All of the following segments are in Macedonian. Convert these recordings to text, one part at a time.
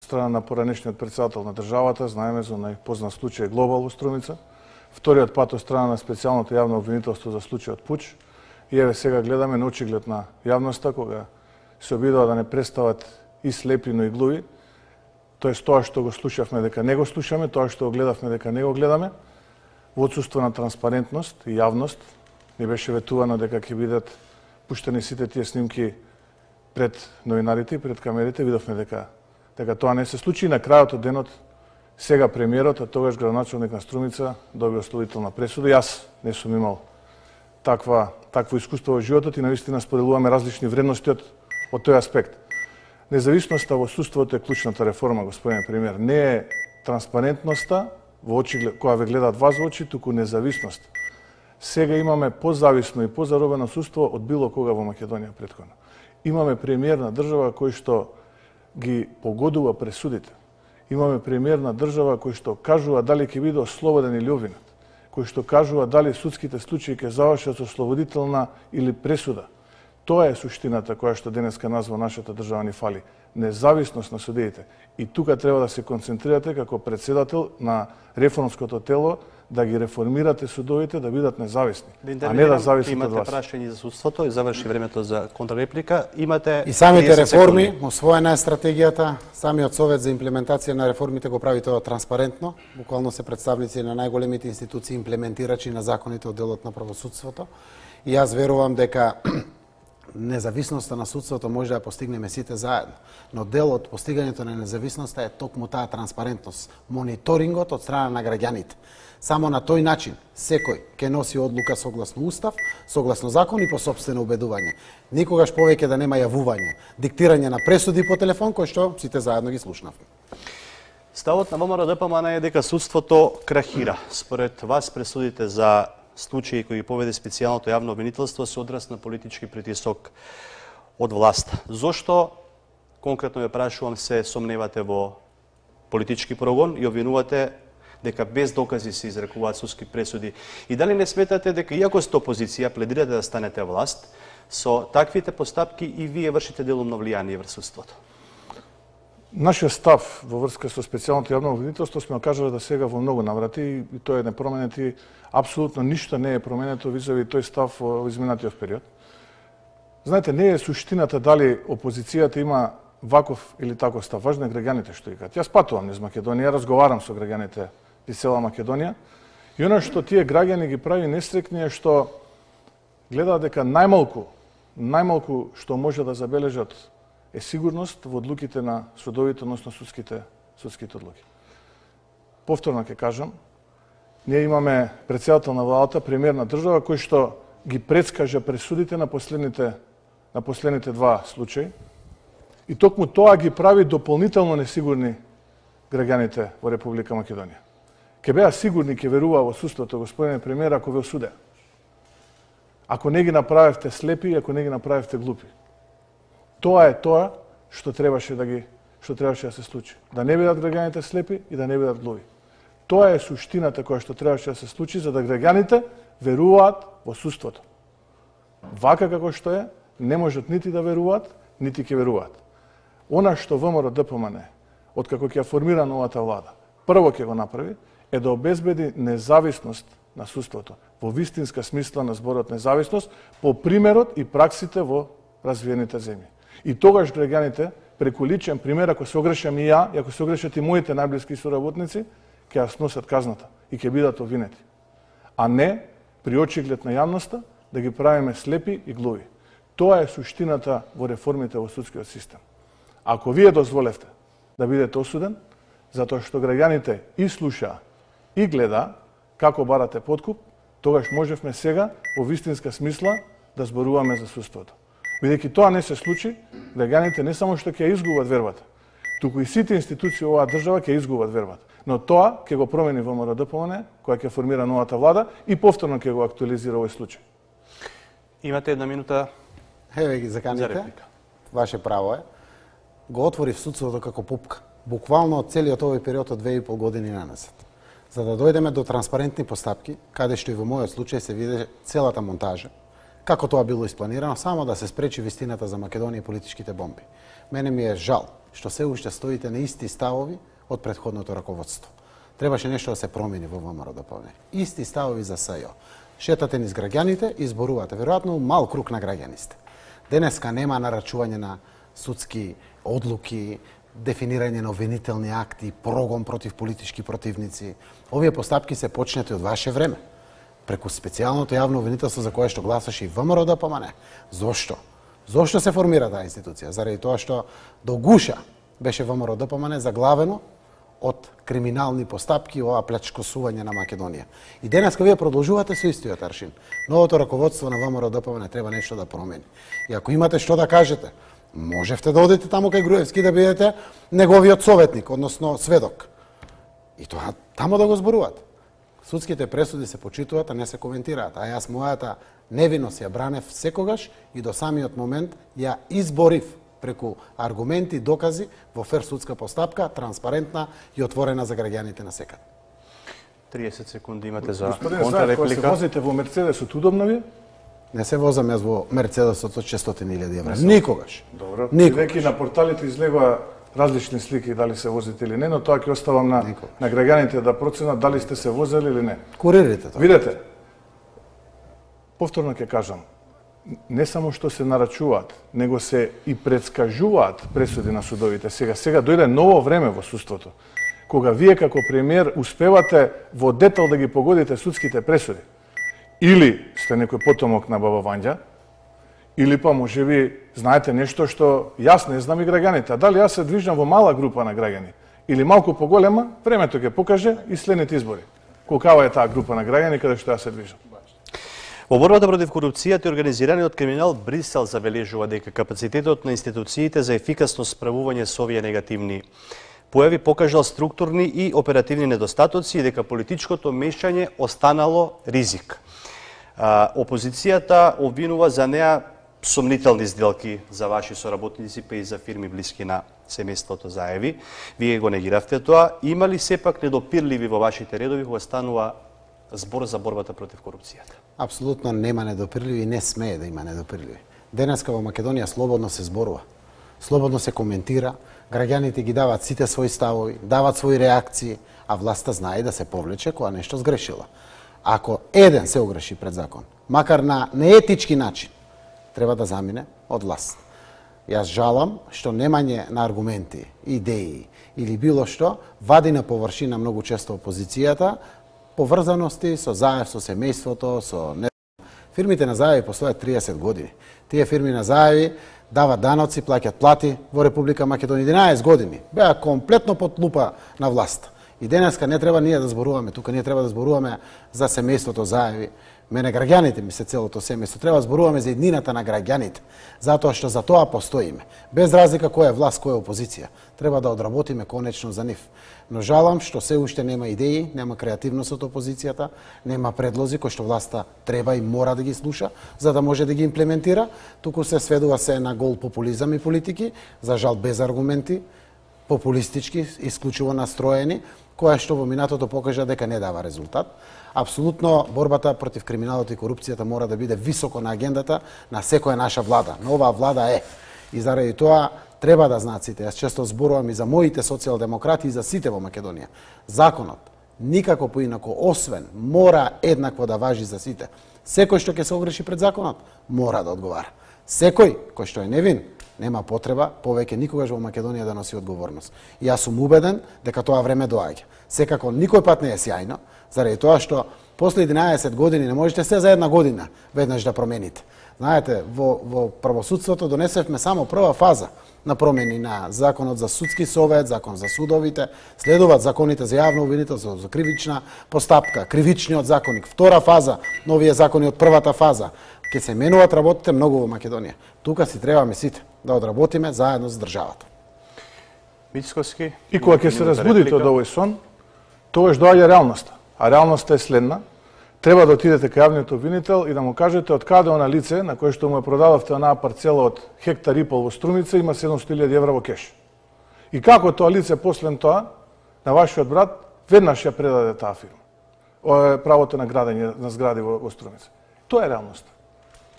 страна на поранешниот председател на државата, знаеме за најпознат случај Глобал во Струмица, вториот пат од страна на специјалното јавно обвинителство за случајот Пуч, и еве сега гледаме на очиглед на јавноста кога се обидува да не представат и слепи, но и глуви, тоест тоа што го слушавме дека не го слушаме, тоа што го гледавме дека не го гледаме, во отсуство на транспарентност и јавност, ни беше ветувано дека ќе бидат пуштени сите тие снимки пред новинарите и пред камерите, видовме дека тоа не се случи. И на крајот од денот, сега премиерот, а тогаш градоначалник на Струмица, доби ослободителна пресуда. Јас не сум имал такво искуство во животот и навистина споделуваме различни вредности од тој аспект. Независноста во судството е клучната реформа, господине премиер. Не е транспарентноста во очи која ве гледаат вас во очи, туку независност. Сега имаме позависно и позаробено судство од било кога во Македонија претходно. Имаме премиер на држава кој што ги погодува пресудите. Имаме премиер на држава кој што кажува дали ќе биде ослободен или обвинет, кој што кажува дали судските случаи ќе завршат со ослободителна или пресуда. Тоа е суштината која што денеска назва нашата држава ни фали. Независност на судиите. И тука треба да се концентрирате како председател на реформското тело, да ги реформирате судовите да бидат независни, а не да зависат од вас. Имате прашање за судството и заврши времето за контрреплика. Имате и самите реформи, освоена е стратегијата, самиот совет за имплементација на реформите го прави тоа транспарентно. Буквално се представници на најголемите институции имплементирачи на законите од делот на правосудството. И јас верувам дека независноста на судството може да ја постигнеме сите заедно, но дел од постигањето на независноста е токму таа транспарентност, мониторингот од страна на граѓаните. Само на тој начин секој ќе носи одлука согласно устав, согласно закон и по сопствено убедување. Никогаш повеќе да нема јавување, диктирање на пресуди по телефон кој што сите заедно ги слушнавме. Ставот на ВМРО ДПМН е дека судството крахира. Според вас пресудите за случаи кои поведе специјалното јавно обвинителство се одраз на политички притисок од власта. Зошто, конкретно ја прашувам, се сомневате во политички прогон и обвинувате дека без докази се изрекуваат судски пресуди? И дали не сметате дека иако сте опозиција, пледирате да станете власт, со таквите постапки и вие вршите делумно влијание врз судството? Нашиот став во врска со специјалното јавно обвинителство сме кажале да сега во многу наврати и тоа е непроменет и апсолутно ништо не е променето визави тој став во изминатиот период. Знаете, не е суштината дали опозицијата има ваков или таков став. Важно е граѓаните што викаат. Јас патувам низ Македонија, разговарам со граѓаните из цела Македонија и она што тие граѓани ги прави нестрекни е што гледаат дека најмалку што може да забележат е сигурност во одлуките на судовите, односно судските одлуки. Повторно ќе кажам, ние имаме председател на владата, премиер на држава, кој што ги предскажа пресудите на последните два случаи и токму тоа ги прави дополнително несигурни граѓаните во Република Македонија. Ке беа сигурни, ке веруваа во судството, господине премиер, ако ве осудеа. Ако не ги направевте слепи, ако не ги направевте глупи. Тоа е тоа што требаше да се случи. Да не бидат граѓаните слепи и да не бидат глуви. Тоа е суштината која што требаше да се случи за да граѓаните веруваат во судството. Вака како што е, не можат нити да веруваат, нити ќе веруваат. Она што ВМРО ДПМН, откако ќе формира новата влада, прво ќе го направи е да обезбеди независност на судството, во вистинска смисла на зборот независност, по примерот и праксите во развиените земји. И тогаш граѓаните, преку личен пример, ако се огрешам и ја, и ако се огрешат и моите најблиски соработници, ќе ја сносат казната и ќе бидат обвинети. А не, при очиглед на јавноста, да ги правиме слепи и глуви. Тоа е суштината во реформите во судскиот систем. Ако вие дозволевте да бидете осуден, затоа што граѓаните и слушаа и гледа како барате подкуп, тогаш можевме сега во вистинска смисла да зборуваме за судството. Бидејќи тоа не се случи, граѓаните не само што ќе изгубат вербата, туку и сите институции оваа држава ќе изгубат вербата. Но тоа ќе го промени ВМРО ДПМН, која ќе формира новата влада и повторно ќе го актуализира овој случај. Имате една минута. Еве ги заканите. Ваше право е. Го отвори судството како пупка. Буквално од целиот овој период од 2,5 години наназад. За да дојдеме до транспарентни постапки, каде што и во мојот случај се виде целата монтажа, како тоа било испланирано, само да се спречи вистината за Македонија и политичките бомби. Мене ми е жал што се уште стоите на исти ставови од претходното раководство. Требаше нешто да се промени во ВМРО-ДПМНЕ. Исти ставови за СЈО. Шетате низ граѓаните и изборувате. Веројатно мал круг на граѓани сте. Денеска нема нарачување на судски одлуки, дефинирање на обвинителни акти, прогон против политички противници. Овие постапки се почнати од ваше време. Преку специјалното јавно обвинителство за кое што гласаше и ВМРО-ДПМНЕ. Зошто? Зошто се формира таа институција? Заради тоа што до гуша беше ВМРО-ДПМНЕ заглавено од криминални постапки, ова плячкосување на Македонија. И денеска вие продолжувате со истиот аршин. Новото раководство на ВМРО-ДПМНЕ треба нешто да промени. И ако имате што да кажете, можевте да одите таму кај Груевски да бидете неговиот советник, односно сведок. И тоа тамо да го зборувате. Судските пресуди се почитуваат, а не се коментираат. А јас мојата невиност ја бранев секогаш и до самиот момент ја изборив преку аргументи, докази во фер судска постапка, транспарентна и отворена за граѓаните на секад. 30 секунди имате за контрареплика. контрареплика. Кога се возите во Мерцедесот, удобно ви? Не се возам јас во Мерцедесот од 600.000 евра. Никогаш. Добро. Никогаш. Веќе на порталите излегува различни слики дали се возите или не, но тоа ќе оставам на граѓаните да проценат дали сте се возели или не. Куририте тоа. Видете, повторно ќе кажам, не само што се нарачуваат, него се и предскажуваат пресуди на судовите. Сега дојде ново време во судството, кога вие како премиер успевате во детал да ги погодите судските пресуди. Или сте некој потомок на Баба Вања, или па можеби знаете нешто што јас не знам и граѓаните. А дали јас се движам во мала група на граѓани или малку поголема, времето ќе покаже и следните избори. Колкава е таа група на граѓани каде што јас се движам. Во борбата против корупцијата и организираниот криминал, Брисел забележува дека капацитетот на институциите за ефикасно справување со овие негативни појави покажал структурни и оперативни недостатоци и дека политичкото мешање останало ризик. Опозицијата обвинува за неа сомнителни сделки за ваши соработници, па и за фирми блиски на семејството Заеви. Вие го негиравте тоа. Има ли сепак недопирливи во вашите редови кога станува збор за борбата против корупцијата? Апсолутно нема недопирливи и не смее да има недопирливи. Денеска во Македонија слободно се зборува. Слободно се коментира, граѓаните ги дават сите своји ставови, дават своји реакции, а власта знае да се повлече кога нешто сгрешила. Ако еден се огреши пред закон, макар на неетички начин, треба да замине од власт. Јас жалам што немање на аргументи, идеи или било што вади на површина многу често опозицијата, поврзаности со Заев, со семејството, со фирмите на Заеви постојат 30 години. Тие фирми на Заеви дават даноци, плаќат плати во Република Македонија 11 години. Беа комплетно под лупа на власт. И денеска не треба ние да зборуваме, тука ние треба да зборуваме за семејството Заеви. Мене граѓаните ми се целото семејство. Треба да зборуваме за еднината на граѓаните, затоа што за тоа постоиме. Без разлика која е власт, која е опозиција. Треба да одработиме конечно за нив. Но жалам што се уште нема идеи, нема креативност од опозицијата, нема предлози кои што власта треба и мора да ги слуша, за да може да ги имплементира. Туку се сведува се на гол популизам и политики, за жал без аргументи, популистички, исклучиво настроени, која што во минатото покажа дека не дава резултат. Апсолутно борбата против криминалот и корупцијата мора да биде високо на агендата на секоја наша влада. Но оваа влада е. И заради тоа треба да знаат сите. Јас често зборувам и за моите социјалдемократи и за сите во Македонија. Законот никако поинако освен мора еднакво да важи за сите. Секој што ќе се огреши пред законот мора да одговара. Секој кој што е невин нема потреба повеќе никогаш во Македонија да носи одговорност. И јас сум убеден дека тоа време доаѓа. Секако никој пат не е сјајно, заради тоа што после 11 години не можете се за една година веднаш да промените. Знаете, во правосудството донесевме само прва фаза на промени на законот за судски совет, закон за судовите, следуваат законите за јавно обвинителство, за кривична постапка, кривичниот законник, втора фаза, новие закони од првата фаза. Ке се менуваат работите многу во Македонија. Тука си требаме сите да одработиме заедно за државата. Мицкоски. И кога ќе се разбудите од овој сон, тогаш доаѓа реалноста. А реалноста е следна. Треба да отидете кај јавниот обвинител и да му кажете од каде она лице на кое што му ја продававте онаа парцела од хектар и пол во Струмица има 700.000 евра во кеш. И како тоа лице после тоа на вашиот брат веднаш ја предаде таа фирма. Правото на градење на згради во Струмица. Тоа е реалноста.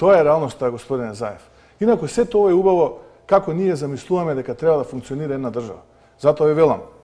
Тоа е реалноста, господине Заев. Инаку сето ова е убаво како ние замислуваме дека треба да функционира една држава. Затоа ви велам,